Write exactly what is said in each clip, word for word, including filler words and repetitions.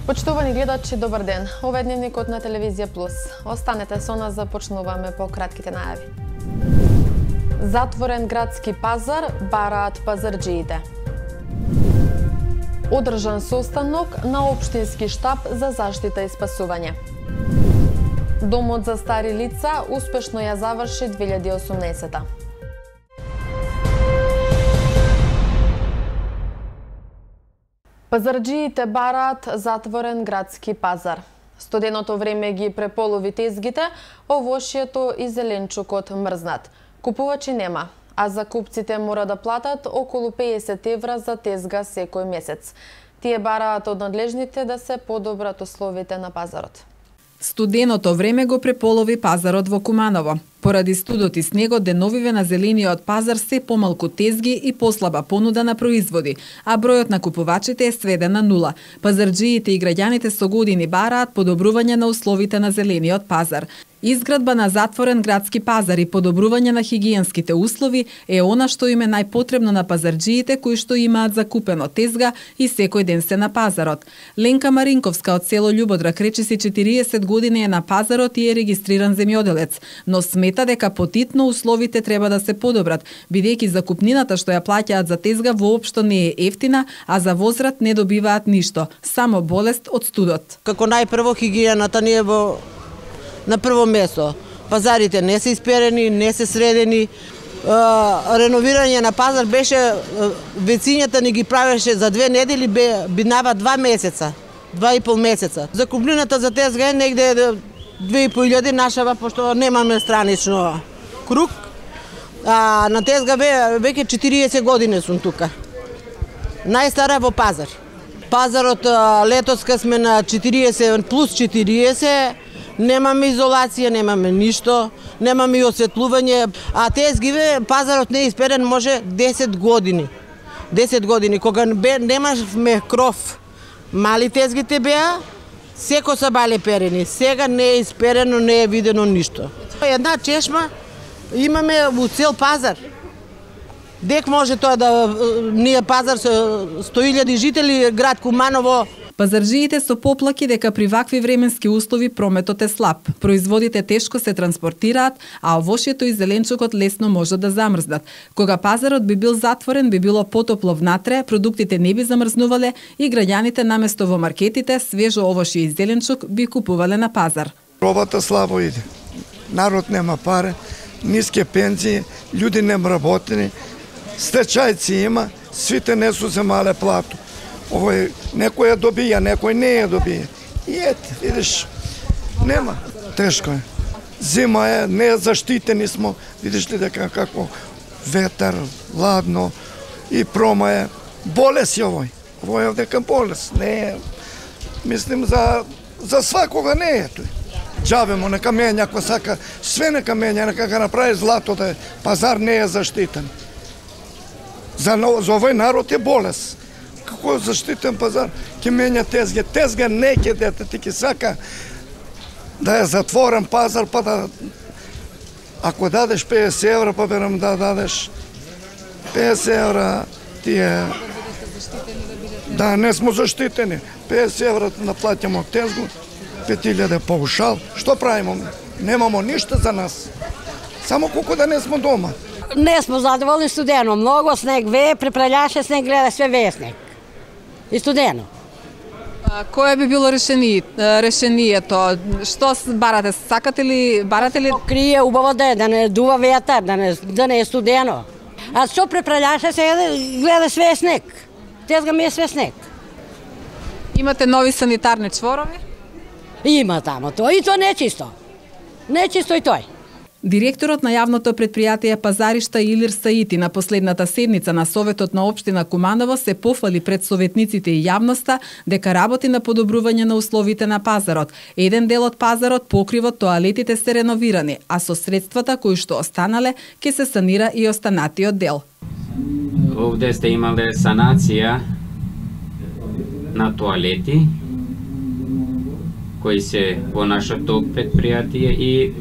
Почитувани гледачи, добар ден. Ова е дневникот на Телевизија Плюс. Останете со нас, започнуваме по кратките најави. Затворен градски пазар, бараат пазарџиите. Одржан состанок на општински штаб за заштита и спасување. Домот за стари лица успешно ја заврши две илјади и осумнаесета. Пазарџиите бараат затворен градски пазар. Студеното време ги преполови тезгите, овошјето и зеленчукот мрзнат. Купувачи нема, а закупците мора да платат околу педесет евра за тезга секој месец. Тие бараат од надлежните да се подобрат условите на пазарот. Студеното време го преполови пазарот во Куманово. Поради студот и снегот, деновиве на зелениот пазар се помалку тезги и послаба понуда на производи, а бројот на купувачите е сведен на нула. Пазарџиите и граѓаните со години бараат подобрување на условите на зелениот пазар. Изградба на затворен градски пазар и подобрување на хигиенските услови е она што им е најпотребно на пазарџиите кои што имаат закупено тезга и секој ден се на пазарот. Ленка Маринковска од село Љубодрак речиси четириесет години е на пазарот и е регистриран земјоделец, но смета дека потитно условите треба да се подобрат, бидејќи закупнината што ја плаќаат за тезга воопшто не е ефтина, а за возврат не добиваат ништо, само болест од студот. Како најпрво хигиената ни е во на прво место. Пазарите не се исперени, не се средени. Реновирање на пазар беше, вецињата ни ги правеше за две недели, бинава два месеца, два и пол месеца. Закупнината за тезга е негде две и пол илјади нашава, пошто немаме странично круг. А, на тезга веќе четириесет години сум тука. Најстара во пазар. Пазарот летоска сме на четириесет плюс четириесет, немаме изолација, немаме ништо, немаме и осветлување, а тезгиве пазарот не е исперен може десет години. десет години, кога немавме кров, мали тезгите беа, секо са бале перени. Сега не е исперено, не е видено ништо. Една чешма имаме у цел пазар. Дек може тоа да ние пазар со сто илјади жители, град Куманово. Пазарџиите со поплаки дека при вакви временски услови прометот е слаб. Производите тешко се транспортираат, а овошјето и зеленчукот лесно можат да замрзнат. Кога пазарот би бил затворен, би било потопло внатре, продуктите не би замрзнувале и граѓаните наместо во маркетите свежо овошје и зеленчук би купувале на пазар. Робата слабо иде. Народ нема пари, ниски пензии, луѓе нема работени, стечајци има, свите не су земале плату. Овој некој ја добија, некој не ја добија. И ете, видиш, нема. Тешко е. Зима е, не е заштитени смо. Видиш ли дека како ветар, ладно и прома е. Болест е овој. Овој е дека болест. Не е, мислим, за, за свакога не е тој. Џабе му, нека менја, ако сака, све нека менја, нека га направи злато, да пазар не е заштитен. За, за овој народ е болест. Како заштитен пазар, ќе менја тезге. Тезга не ќе дете, ти ќе сака да е затворен пазар, па да... Ако дадеш педесет евра, па берам да дадеш педесет евра, тие... Да, не смо заштитени. педесет евра наплатимо тезгу, пет илјади паушал. Што правимо? Немамо ништо за нас. Само колку да не смо дома. Не смо задоволни, студено. Многу снег вее, препрелјаше снег, гледа све вее снег. И студено. А, кое би било решени, решението? Што барате? Сакате ли, барате ли? Крие убаво да е, да не дува ветар, да не, да не е студено. А што препрелјаше сега, гледа све снег. Тезга ми е све снег. Имате нови санитарни чворови? Има тамо тоа, и тоа не е чисто. Не е чисто и тој. Директорот на јавното предпријатие Пазаришта Илир Саити на последната седница на Советот на општина Куманово се пофали пред советниците и јавноста дека работи на подобрување на условите на пазарот. Еден дел од пазарот, покривот, тоалетите се реновирани, а со средствата кои што останале ќе се санира и останатиот дел. Овде сте имале санација на тоалети кои се во нашето предпријатие и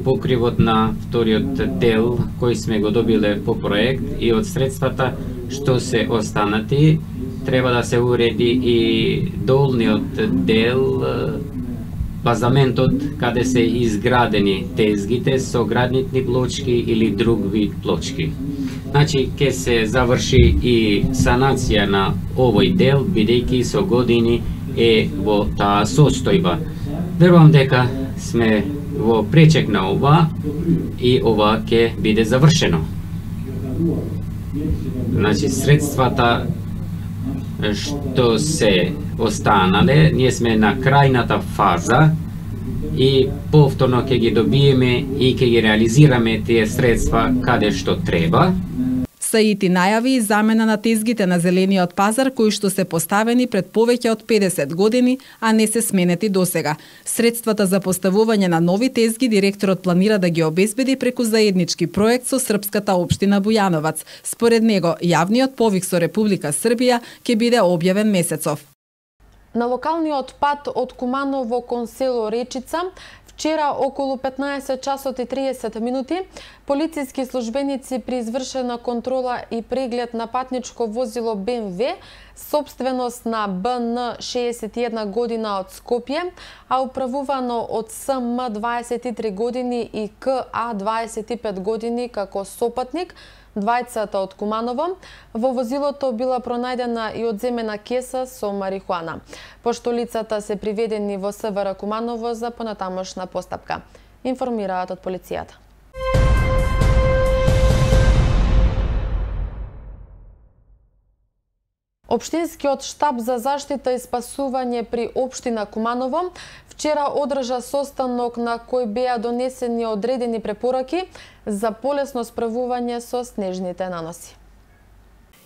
покривот на вториот дел кој сме го добиле по проект и од средствата што се останати треба да се уреди и долниот дел, базаментот каде се изградени тезгите со гранитни плочки или друг вид плочки. Значи, ќе се заврши и санација на овој дел, бидејќи со години е во таа состојба. Верувам дека сме во пречек на ова и ова ќе биде завршено. Значи, средствата што се останале, ние сме на крајната фаза и повторно ќе ги добиеме и ќе ги реализираме тие средства каде што треба. Саити најави и замена на тезгите на зелениот пазар кои што се поставени пред повеќе од педесет години, а не се сменети досега. Средствата за поставување на нови тезги директорот планира да ги обезбеди преку заеднички проект со српската општина Бујановац. Според него, јавниот повик со Република Србија ќе биде објавен месецов. На локалниот пат од Куманово кон село Речица вчера околу петнаесет часот и триесет минути полициски службеници при извршена контрола и преглед на патничко возило Б М В, собственост на Б Н шеесет и една година од Скопје, а управувано од С М дваесет и три години и К А дваесет и пет години како сопатник, двајцата од Куманово. Во возилото била пронајдена и одземена кеса со марихуана. Пошто лицата се приведени во С В Р Куманово за понатамошна постапка, информираат од полицијата. Општинскиот штаб за заштита и спасување при општина Куманово вчера одржа состанок на кој беа донесени одредени препораки за полесно справување со снежните наноси.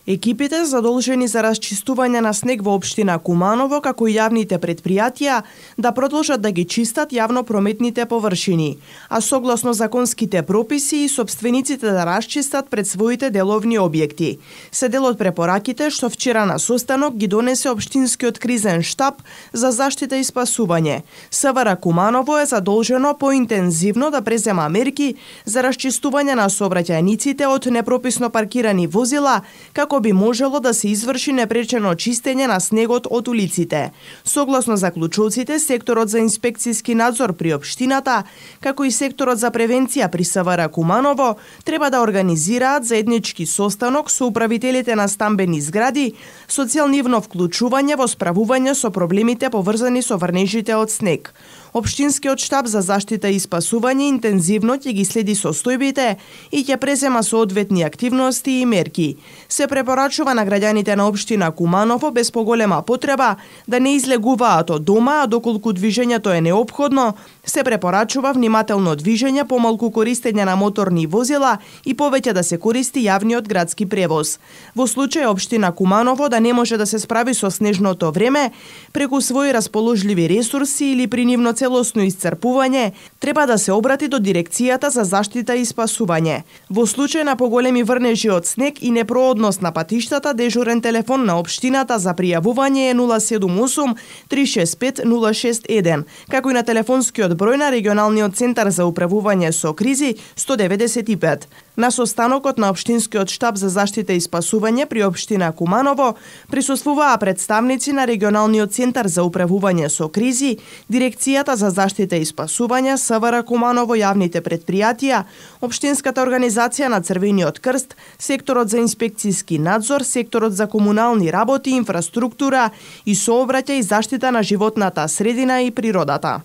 Екипите задолжени за расчистување на снег во општина Куманово, како и јавните предпријатија, да продолжат да ги чистат јавно-прометните површини, а согласно законските прописи и собствениците да расчистат пред своите деловни објекти. Се дел од препораките што вчера на состанок ги донесе општинскиот кризен штаб за заштита и спасување. С В Р Куманово е задолжено поинтензивно да презема мерки за расчистување на сообраќајниците од непрописно паркирани возила, како би можело да се изврши непречено чистење на снегот од улиците. Согласно заклучоците, секторот за инспекцијски надзор при општината, како и секторот за превенција при С В Р Куманово, треба да организираат заеднички состанок со управителите на стамбени згради со цел нивно вклучување во справување со проблемите поврзани со врнежите од снег. Општинскиот штаб за заштита и спасување интензивно ќе ги следи состојбите и ќе презема соодветни активности и мерки. Се препорачува на граѓаните на општина Куманово без поголема потреба да не излегуваат од дома, а доколку движењето е неопходно, се препорачува внимателно движење, помалку користење на моторни возила и повеќе да се користи јавниот градски превоз. Во случај општина Куманово да не може да се справи со снежното време, преку своји расположливи ресурси или при нивно целосно исцрпување, треба да се обрати до Дирекцијата за заштита и спасување. Во случај на поголеми врнежи од снег и непроодност на патиштата, дежурен телефон на општината за пријавување е нула седум осум три шест пет нула шест еден, како и на телефонскиот број на регионалниот центар за управување со кризи сто деветдесет и пет. На состанокот на општинскиот штаб за заштита и спасување при општина Куманово присуствуваа представници на регионалниот центар за управување со кризи, Дирекцијата за заштита и спасување, С В Р Куманово, јавните предпријатија, Општинската организација на Црвениот крст, секторот за инспекцијски надзор, секторот за комунални работи, инфраструктура и сообраќај и заштита на животната средина и природата.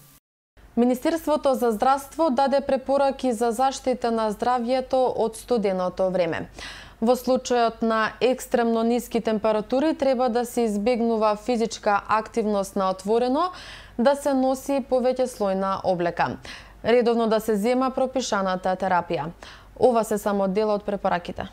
Министерството за здравство даде препораки за заштита на здравјето од студеното време. Во случајот на екстремно ниски температури треба да се избегнува физичка активност на отворено, да се носи повеќе слојна облека, редовно да се зема пропишаната терапија. Ова се само дел од препораките.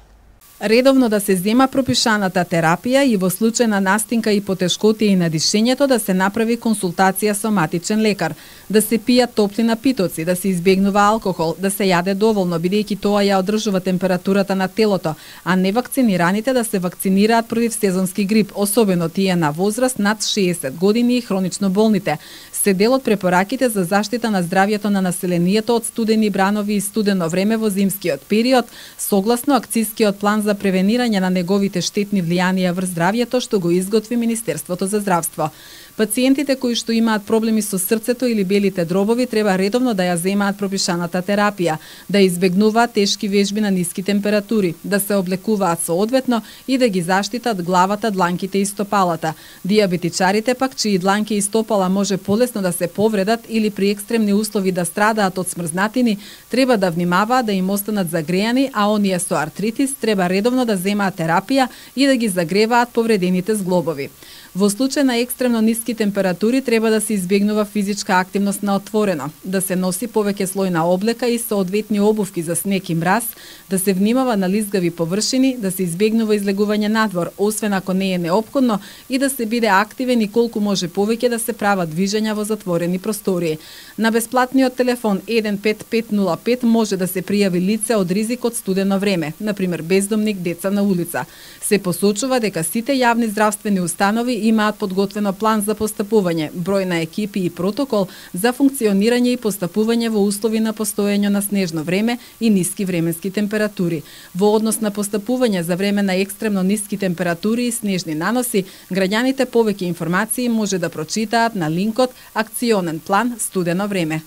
Редовно да се зема пропишаната терапија и во случај на настинка и потешкотија и на дишењето да се направи консултација со матичен лекар, да се пијат топли напитоци, да се избегнува алкохол, да се јаде доволно бидејќи тоа ја одржува температурата на телото, а невакцинираните да се вакцинираат против сезонски грип, особено тие на возраст над шеесет години и хронично болните. Се дел од препораките за заштита на здравјето на населението од студени бранови и студено време во зимскиот период, согласно акцијскиот план за за превенирање на неговите штетни влијанија врз здравјето што го изготви Министерството за здравство. Пациентите кои што имаат проблеми со срцето или белите дробови треба редовно да ја земаат пропишаната терапија, да избегнуваат тешки вежби на ниски температури, да се облекуваат соодветно и да ги заштитат главата, дланките и стопалата. Дијабетичарите пак чии дланки и стопала може полесно да се повредат или при екстремни услови да страдаат од смрзнатини, треба да внимаваат да им останат загрејани, а оние со артритис треба редовно да земаат терапија и да ги загреваат повредените зглобови. Во случај на екстремно ниски температури треба да се избегнува физичка активност на отворено, да се носи повеќе слој на облека и соодветни обувки за снег и мраз, да се внимава на лизгави површини, да се избегнува излегување надвор, освен ако не е неопходно, и да се биде активен и колку може повеќе да се прават движења во затворени простории. На бесплатниот телефон еден пет пет нула пет може да се пријави лице од ризик од студено време, например бездомник, деца на улица. Се посочува дека сите јавни здравствени установи имаат подготвено план за постапување, број на екипи и протокол за функционирање и постапување во услови на постоење на снежно време и ниски временски температури. Во однос на постапување за време на екстремно ниски температури и снежни наноси, граѓаните повеќе информации може да прочитаат на линкот Акционен план студено време.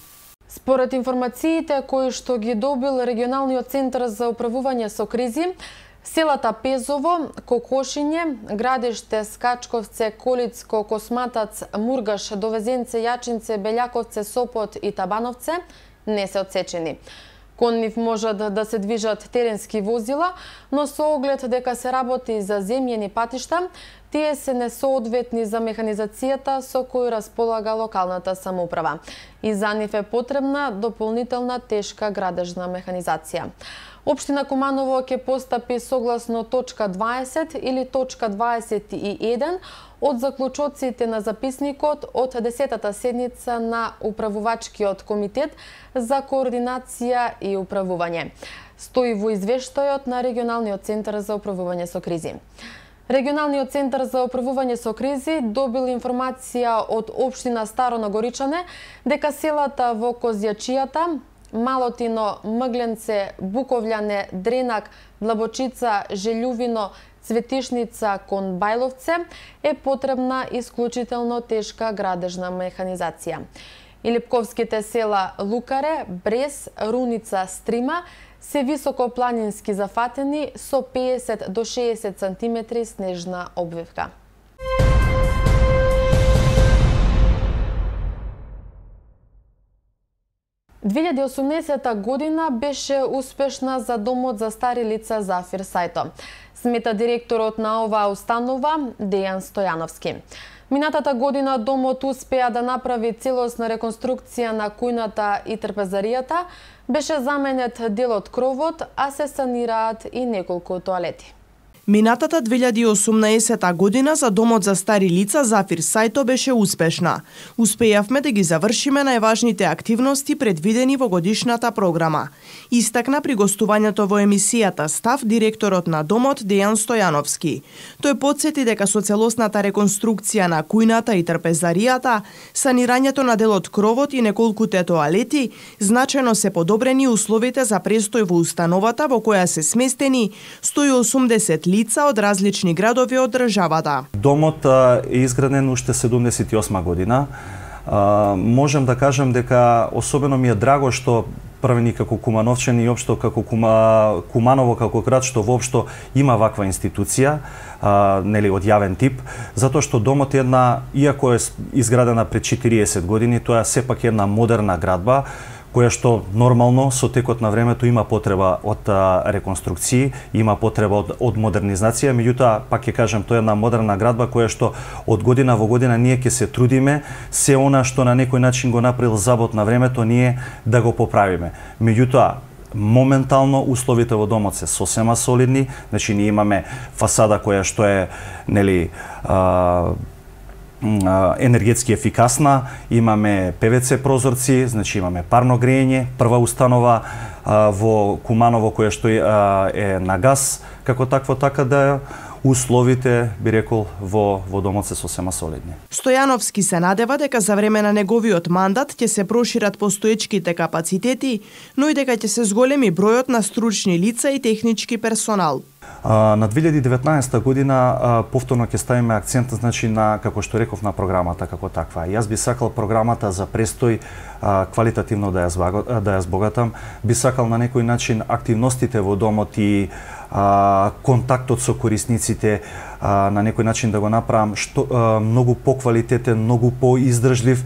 Според информациите кои што ги добил регионалниот центар за управување со кризи, селата Пезово, Кокошиње, Градиште, Скачковце, Колицко, Косматац, Мургаш, Довезенце, Јачинце, Белјаковце, Сопот и Табановце не се отсечени. Кон нив можат да се движат теренски возила, но со оглед дека се работи за земјени патишта, тие се несоодветни за механизацијата со кој располага локалната самоуправа и за нив е потребна дополнителна тешка градежна механизација. Општина Куманово ќе постапи согласно точка дваесет или точка дваесет и еден од заклучоците на записникот од десетата седница на Управувачкиот комитет за координација и управување. Стои во извештајот на Регионалниот центар за управување со кризи. Регионалниот центар за управување со кризи добил информација од општина Старо Нагоричане дека селата во Козјачијата, Малотино, Мгленце, Буковљане, Дренак, Длабочица, Желјувино, Цветишница кон Бајловце е потребна исклучително тешка градежна механизација. И липковските села Лукаре, Брес, Руница, Стрима се високопланински зафатени со педесет до шеесет сантиметри снежна обвивка. две илјади и осумнаесета година беше успешна за Домот за стари лица Зафир Сајто, смета директорот на оваа установа Дејан Стојановски. Минатата година Домот успеа да направи целосна реконструкција на кујната и трпезаријата, беше заменет дел од кровот, а се санираат и неколку тоалети. Минатата две илјади и осумнаесета година за Домот за стари лица Зафир Сајто беше успешна. Успеавме да ги завршиме најважните активности предвидени во годишната програма. Истакна при гостувањето во емисијата Став директорот на Домот Дејан Стојановски. Тој потсети дека со целосната реконструкција на кујната и трпезаријата, санирањето на дел од кровот и неколкуте тоалети, значајно се подобрени условите за престој во установата во која се сместени сто и осумдесет лица од различни градови од државата. Домот е изграден уште седумдесет и осма година. Можем да кажем дека особено ми е драго што првени како кумановчани и општо како Кума, Куманово како град што воопшто има ваква институција, а, нели од јавен тип, затоа што Домот е една, иако е изградена пред четириесет години, тоа е сепак една модерна градба која што нормално со текот на времето има потреба од а, реконструкции, има потреба од, од модернизација, меѓутоа пак ќе кажем тоа е една модерна градба која што од година во година ние ќе се трудиме се она што на некој начин го направил забот на времето ние да го поправиме. Меѓутоа моментално условите во Домот се сосема солидни, значи ние имаме фасада која што е нели а, енергетски ефикасна, имаме пе ве це прозорци, значи имаме парно грејење, прва установа а, во Куманово која што е, а, е на газ, како такво така да условите, би рекол, во во домот се сосема солидни. Стојановски се надева дека за време на неговиот мандат ќе се прошират постоечките капацитети, но и дека ќе се зголеми бројот на стручни лица и технички персонал. На две илјади и деветнаесетта година повторно ќе ставиме акцент, значи, на, како што реков, на програмата како таква. Јас би сакал програмата за престој квалитативно да ја да ја збогатам, би сакал на некој начин активностите во домот и а, контактот со корисниците а, на некој начин да го направам што а, многу поквалитетен, многу поиздржлив.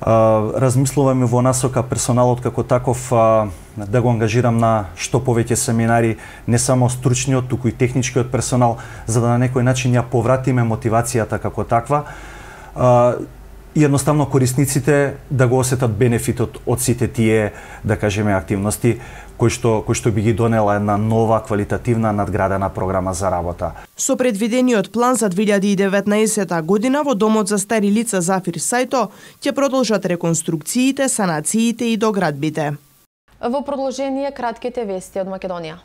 Размислуваме во насока персоналот како таков а, да го ангажирам на што повеќе семинари, не само стручниот, туку и техничкиот персонал, за да на некој начин ја повратиме мотивацијата како таква. А, и едноставно корисниците да го осетат бенефитот од сите тие, да кажеме, активности кои што кои што би ги донела една нова квалитативна надградена програма за работа. Со предвидениот план за две илјади и деветнаесетта година во домот за стари лица Зафир Сајто ќе продолжат реконструкциите, санациите и доградбите. Во продолжение кратките вести од Македонија.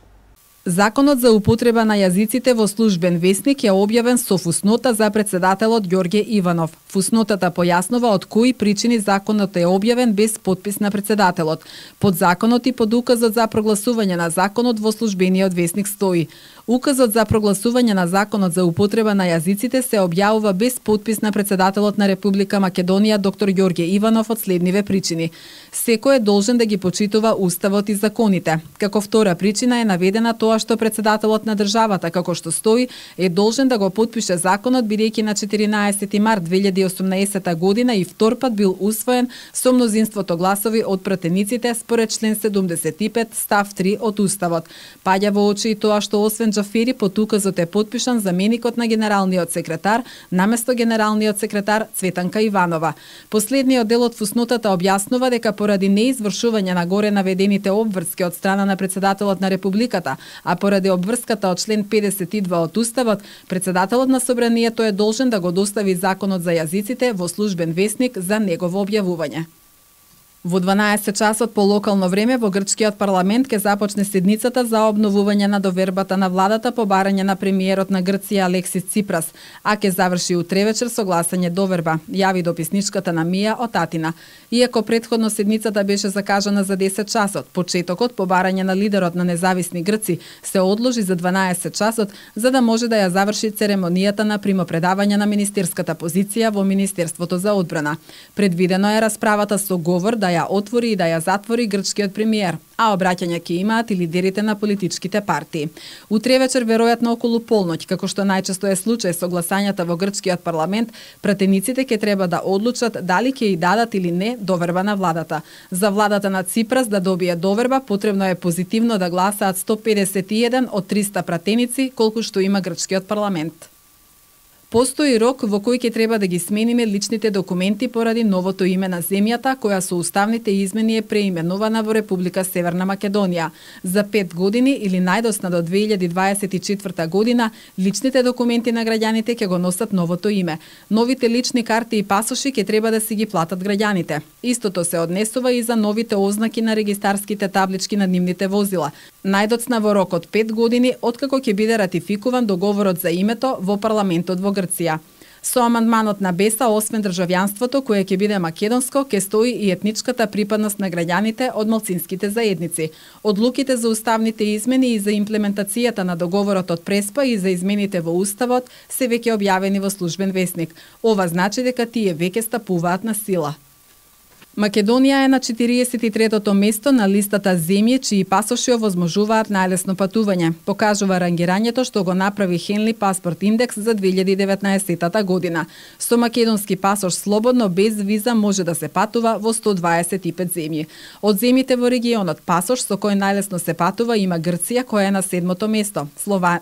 Законот за употреба на јазиците во службен весник е објавен со фуснота за председателот Ѓорѓе Иванов. Фуснотата појаснува од кои причини законот е објавен без подпис на председателот. Под законот и под указот за прогласување на законот во службениот весник стои: указот за прогласување на законот за употреба на јазиците се објавува без подпис на председателот на Република Македонија доктор Ѓорѓе Иванов од следниве причини. Секој е должен да ги почитува уставот и законите. Како втора причина е наведена тоа што председателот на државата, како што стои, е должен да го потпише законот, бидејќи на четиринаесети март две илјади и осумнаесетта година и втор пат бил усвоен со мнозинството гласови од пратениците според член седумдесет и пет став три од уставот. Паѓа во очи и тоа што освен Џафери под указот е потпишан заменикот на генералниот секретар наместо генералниот секретар Цветанка Иванова. Последниот дел од фуснотата објаснува дека поради неизвршување на горе наведените обврски од страна на председателот на Републиката, а поради обврската од член педесет и два од уставот, председателот на собранието е должен да го достави законот за јазиците во службен весник за негово објавување. Во дванаесет часот по локално време во грчкиот парламент ќе започне седницата за обновување на довербата на владата по барање на премиерот на Грција Алексис Ципрас, а ќе заврши утре вечер со гласање доверба, јави дописничката на Мија од Атина. Иако претходно седницата беше закажана за десет часот, почетокот по барање на лидерот на независни грци се одложи за дванаесет часот за да може да ја заврши церемонијата на примопредавање на министерската позиција во Министерството за одбрана. Предвидено е расправата со говор да ја отвори и да ја затвори грчкиот премиер, а обраќања ќе имаат и лидерите на политичките партии. Утре вечер, веројатно околу полноќ, како што најчесто е случај со гласањата во грчкиот парламент, пратениците ќе треба да одлучат дали ќе и дадат или не доверба на владата. За владата на Ципрас да добие доверба, потребно е позитивно да гласаат сто педесет и еден од триста пратеници, колку што има грчкиот парламент. Постои рок во кој ќе треба да ги смениме личните документи поради новото име на земјата, која со уставните измени е преименувана во Република Северна Македонија. За пет години или најдосна до две илјади дваесет и четврта година, личните документи на граѓаните ќе го носат новото име. Новите лични карти и пасоши ќе треба да си ги платат граѓаните. Истото се однесува и за новите ознаки на регистарските таблички на нивните возила. Најдоцна во рок од пет години, откако ќе биде ратификуван договорот за името во парламентот во Грција. Со амандманот на БЕСА, освен државјанството кое ќе биде македонско, ќе стои и етничката припадност на граѓаните од малцинските заедници. Одлуките за уставните измени и за имплементацијата на договорот од Преспа и за измените во уставот се веќе објавени во службен весник. Ова значи дека тие веќе стапуваат на сила. Македонија е на четириесет и третото место на листата земји чии пасоши овозможуваат најлесно патување, покажува рангирањето што го направи Henley Passport Index за две илјади и деветнаесетта година. Со македонски пасош слободно без виза може да се патува во сто дваесет и пет земји. Од земјите во регионот пасош со кој најлесно се патува има Грција која е на седмото место, Слова...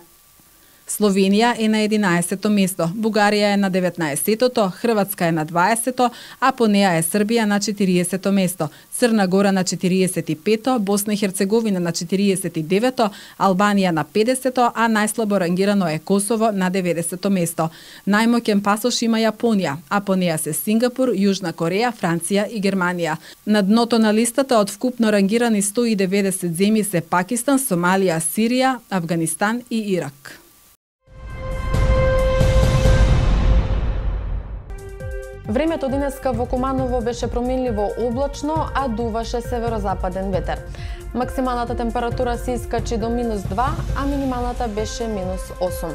Словенија е на единаесетто место, Бугарија е на деветнаесеттото, Хрватска е на дваесетто, а по неа е Србија на четириесетто место, Црна Гора на четириесет и петто, Босна и Херцеговина на четириесет и девето, Албанија на педесетто, а најслабо рангирано е Косово на деветдесетто место. Најмоќен пасош има Јапонија, а по неа се Сингапур, Јужна Кореја, Франција и Германија. На дното на листата од вкупно рангирани сто и деветдесет земји се Пакистан, Сомалија, Сирија, Авганистан и Ирак. Времето денеска во Куманово беше променливо облачно, а дуваше северозападен ветер. Максималната температура се искачи до минус два, а минималната беше минус осум.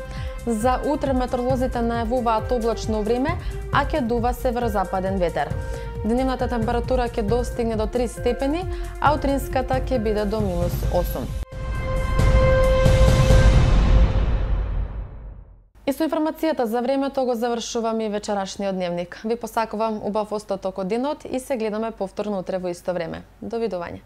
За утре метеоролозите најавуваат облачно време, а ќе дува северозападен ветер. Дневната температура ќе достигне до три степени, а утринската ќе биде до минус осум. И со информацијата за времето го завршувам и вечерашниот дневник. Ви посакувам убав остаток од денот и се гледаме повторно утре во исто време. Довидување.